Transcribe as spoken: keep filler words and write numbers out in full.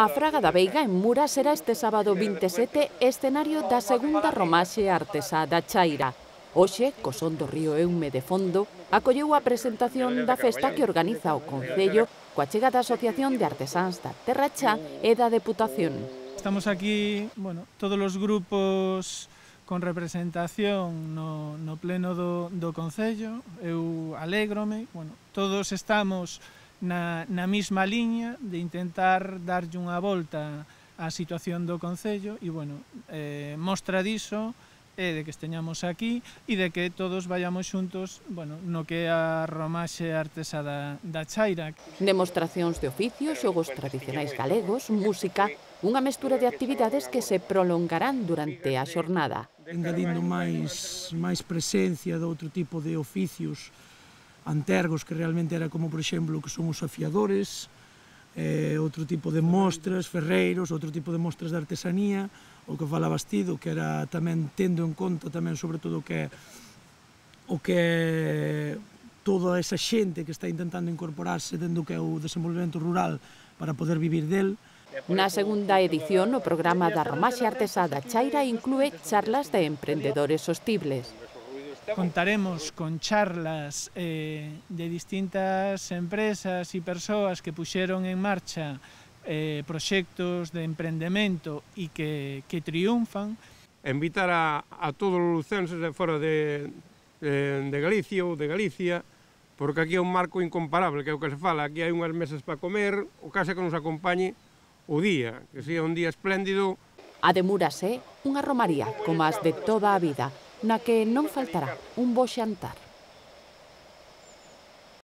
A Fraga da Veiga, en Mura, será este sábado vinte e sete escenario da segunda romaxe artesá da Chaira. Hoxe, co son do río Eume de fondo, acolleu a presentación da festa que organiza o Concello coa chega da Asociación de Artesáns da Terra Chá e da Deputación. Estamos aquí, bueno, todos os grupos con representación no, no pleno do, do Concello. Eu alégrome, bueno, todos estamos na, na mesma liña de intentar darlle unha volta á situación do Concello e, bueno, eh, mostra diso é de que esteñamos aquí e de que todos vayamos xuntos, bueno, no que é a romaxe artesá da, da Chaira. Demostracións de oficios, xogos tradicionais galegos, música, unha mestura de actividades que se prolongarán durante a xornada. Engadindo máis, máis presencia de outro tipo de oficios antergos que realmente era como, por exemplo, que son os afiadores, eh, outro tipo de mostras, ferreiros, outro tipo de mostras de artesanía, o que fala Bastido, que era tamén tendo en conta tamén sobre todo o que o que toda esa xente que está intentando incorporarse dentro do que é o desenvolvemento rural para poder vivir del. Na segunda edición, o programa da Romaxe Artesá da Chaira inclúe charlas de emprendedores sostibles. Contaremos con charlas eh, de distintas empresas e persoas que puxeron en marcha eh, proxectos de emprendemento e que, que triunfan. Invitar a, a todos os lucenses de fora de, de, de Galicia ou de Galicia, porque aquí é un marco incomparable, que é o que se fala. Aquí hai unhas mesas para comer, o caso que nos acompañe o día, que sea un día espléndido. A de Muras é unha romaría, como as de toda a vida, na que non faltará un bo xantar.